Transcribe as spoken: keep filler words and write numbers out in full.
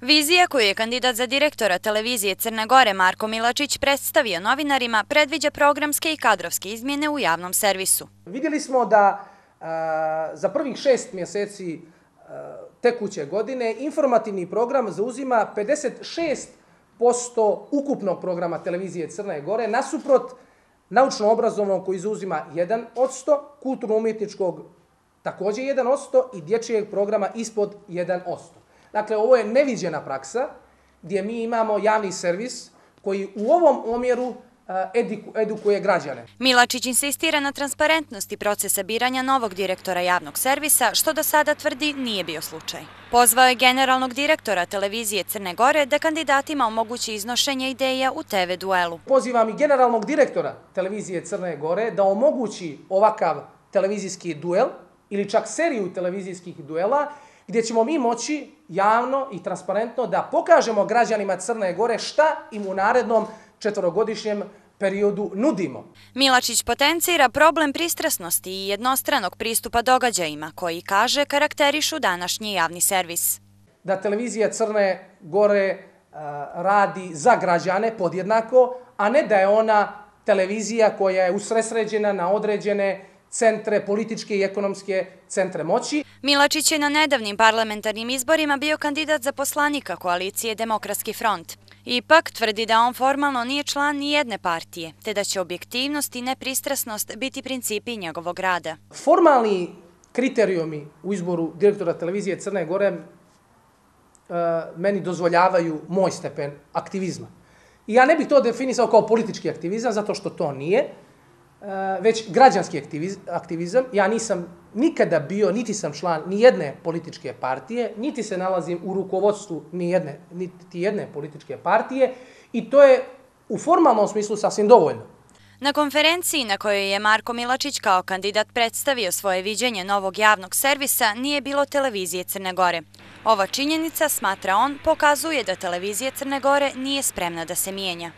Vizija koju je kandidat za direktora televizije Crne Gore Marko Milačić predstavio novinarima predviđa programske i kadrovske izmjene u javnom servisu. Vidjeli smo da a, za prvih šest mjeseci a, tekuće godine informativni program zauzima pedeset šest posto ukupnog programa televizije Crne Gore, nasuprot naučno-obrazovnog koji zauzima jedan posto, kulturno-umjetničkog također jedan posto i dječjeg programa ispod jedan posto. Dakle, ovo je neviđena praksa gdje mi imamo javni servis koji u ovom omjeru edukuje građane. Milačić insistira na transparentnosti procesa biranja novog direktora javnog servisa, što do sada tvrdi nije bio slučaj. Pozvao je generalnog direktora televizije Crne Gore da kandidatima omogući iznošenje ideja u te ve duelu. Pozivam i generalnog direktora televizije Crne Gore da omogući ovakav televizijski duel ili čak seriju televizijskih duela gdje ćemo mi moći javno i transparentno da pokažemo građanima Crne Gore šta im u narednom četvorogodišnjem periodu nudimo. Milačić potencira problem pristrasnosti i jednostranog pristupa događajima koji, kaže, karakterišu današnji javni servis. Da televizija Crne Gore uh, radi za građane podjednako, a ne da je ona televizija koja je usresređena na određene centre, političke i ekonomske centre moći. Milačić je na nedavnim parlamentarnim izborima bio kandidat za poslanika koalicije Demokratski front. Ipak tvrdi da on formalno nije član ni jedne partije, te da će objektivnost i nepristrasnost biti principi njegovog rada. Formalni kriterijumi u izboru direktora televizije Crne Gore uh, meni dozvoljavaju moj stepen aktivizma. I ja ne bih to definisao kao politički aktivizam, zato što to nije, već građanski aktivizam. Ja nisam nikada bio, niti sam član ni jedne političke partije, niti se nalazim u rukovodstvu ni jedne, niti jedne političke partije i to je u formalnom smislu sasvim dovoljno. Na konferenciji na kojoj je Marko Milačić kao kandidat predstavio svoje viđenje novog javnog servisa nije bilo televizije Crne Gore. Ova činjenica, smatra on, pokazuje da televizija Crne Gore nije spremna da se mijenja.